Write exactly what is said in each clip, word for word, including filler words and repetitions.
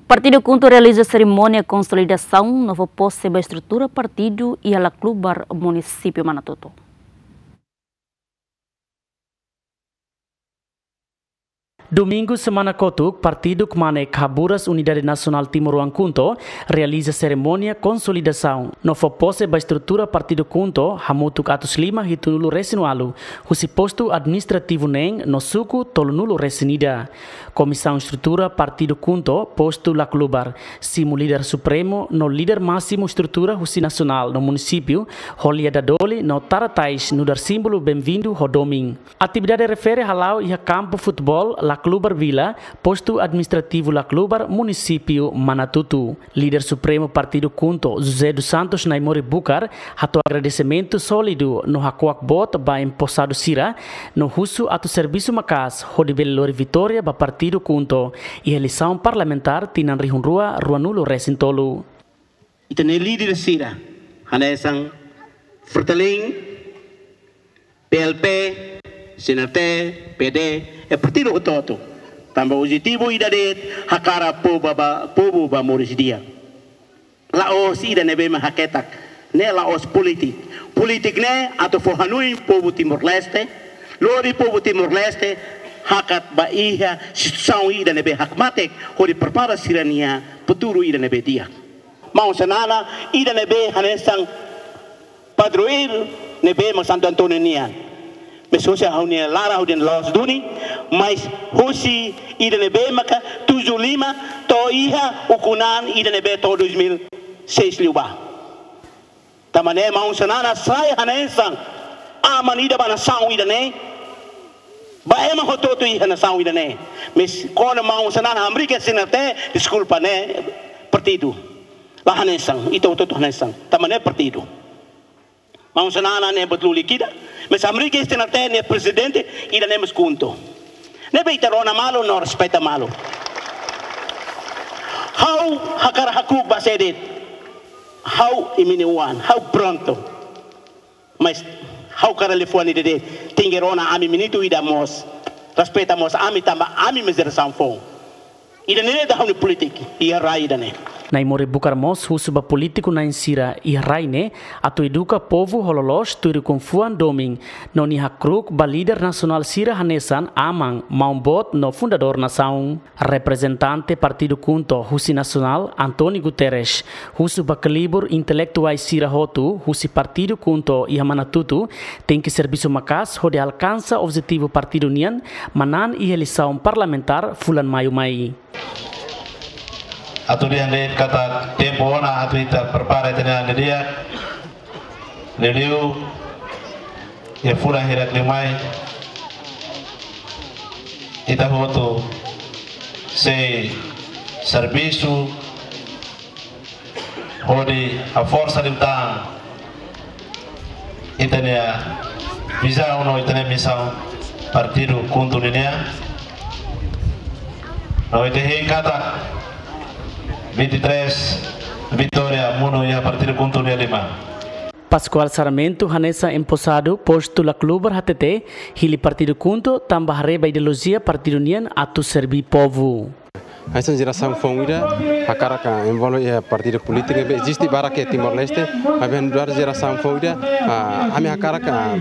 Partidu KHUNTO realiza serimónia konsolidasaun no fó pose ba estrutura partidu iha Laclubar, Munisípiu Manatuto. Domingu semana kotuk, partidu kmanek haburas Unidade Nasionál Timoroan KHUNTO realiza serimónia konsolidasaun no fó pose ba estrutura partidu KHUNTO hamutuk atus lima hitunulu resin ualu, husi postu administrativu neen no suku tolunulu resin ida. Komisaun estrutura partidu KHUNTO postu Laclubar simu líder supremu no líder másimu estrutura husi nasionál no munisípiu, ho lia dadoli no tara tais nu'udar símbolu benvindu ho domin. Atividade refere hala'o iha kampu futeból Laclubar Vila, postu administrativu Laclubar, Munisípiu Manatuto. Líder supremu partidu KHUNTO, José dos Santos Naimori Bucar, hato'o agradesimentu sólidu no hakuak boot ba emposadu sira, no husu atu servisu maka'as hodi bele lori vitória ba partidu KHUNTO iha eleisaun parlamentár tinan rihun rua ruanulu resin tolu. Ita-nia líder sira, hanesan Fretilin, P L P, C N R T, P D, iha partidu hotu-hotu. Tanba objetivu ida de'it, hakarak povu ba, povu ba moris di'ak. La'ós ida ne'ebé mak haketak, ne'e la'ós polítika. Polítika ne'e atu fó hanoin povu Timor-Leste, lori povu Timor-Leste hakat ba iha situasaun ida ne'ebé hakmatek, hodi prepara sira-nia futuru ida ne'ebé di'ak. Maun Xanana, ida ne'ebé hanesan padroeiru ne'ebé mak Santo António nian. Maibé husi ha'u-nia laran ha'u-nia la'ós duni, maibé husi ida ne'ebé maka tujuh lima to'o iha ukun-an ida ne'ebé to'o dois mil seis liubá. Tanba ne'e Maun Xanana sai hanesan aman ida ba nasaun ida-ne'e, ba ema hotu-hotu iha nasaun ida-ne'e. Maibé kona Maun Xanana hamriik iha C N R T, deskulpa, ne'e partidu. La hanesan, ita hotu-hotu hanesan. Tanba ne'e partidu. Maun Xanana ne'e buat lulik ida, maibé hamriik iha C N R T nia prezidente ida-ne'e mós KHUNTO. Ne'ebé ita rona malu no respeita malu. Ha'u hakarak hakruuk ba sé de'it. Ha'u imi-nia oan, ha'u prontu. Maibé ha'u hakarak liafuan ida de'it. Tenke rona ami minutu ida mós. Respeita mós ami tanba ami mak jerasaun foun. Ida-ne'e ita ha'u-nia polítika iha rai ida-ne'e. Naimori Bucar mós husu ba polítiku na'in sira iha rai ne'e atu eduka povu ho loloos tuir ukun-fuan domin, no nia hakruuk ba líder nasionál sira hanesan aman, maun boot no fundadór nasaun. Reprezentante partidu KHUNTO husi nasionál, António Guterres, husu ba kelibur intelektuál sira hotu husi partidu KHUNTO iha Manatuto tenke servisu maka'as hodi alkansa objetivu partidu nian manán iha eleisaun parlamentár fulan maiu mai. Atu dehan de'it katak tempu ona atu ita prepara ita-nia an didi'ak. Liuliu iha fulan hirak liu mai, ita hotu sei servisu hodi haforsa liután ita-nia vizaun no ita-nia misaun partidu KHUNTO nian. No ita hein katak vinte e três vitória monu iha partidu KHUNTO nia liman. Pascoal Sarmento hanesan emposadu postu Laclubar hatete, hili partidu KHUNTO tanba haree ba ideolojia partidu nian atu serbí povu. Hanesan jerasaun foun ida, hakarak, ah, envolve iha partidu polítiku, ne'ebé eziste barak iha Timor-Leste, maibé nu'udar jerasaun foun ida, ah, ami hakarak, ah,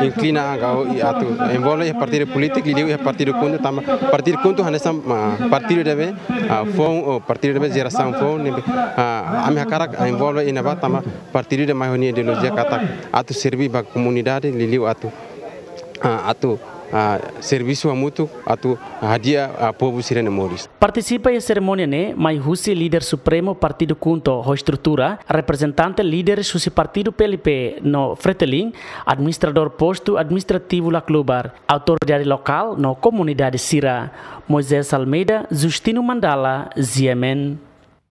inklina agora atu envolve iha partidu polítiku, liuliu iha partidu KHUNTO, tanba partidu KHUNTO hanesan, ah, partidu ne'ebé, ah, foun, ou partidu ne'ebé jerasaun foun, ne'ebé, ah, ami hakarak, ah, envolve iha ne'ebá tanba partidu ida mai ho nia ideolojia katak atu serbí ba komunidade, liuliu atu, ah, atu, ah, servisu hamutuk, atu hadi'a, ah, povu sira-nia moris. Partisipa iha serimónia ne'e mai husi líder supremu partidu KHUNTO ho estrutura, reprezentante líderes husi partidu P L P no Fretilin, administradór postu administrativu Laclubar, autoridade lokál no komunidade sira. Moisés Almeida, Justino Mandala, G M N.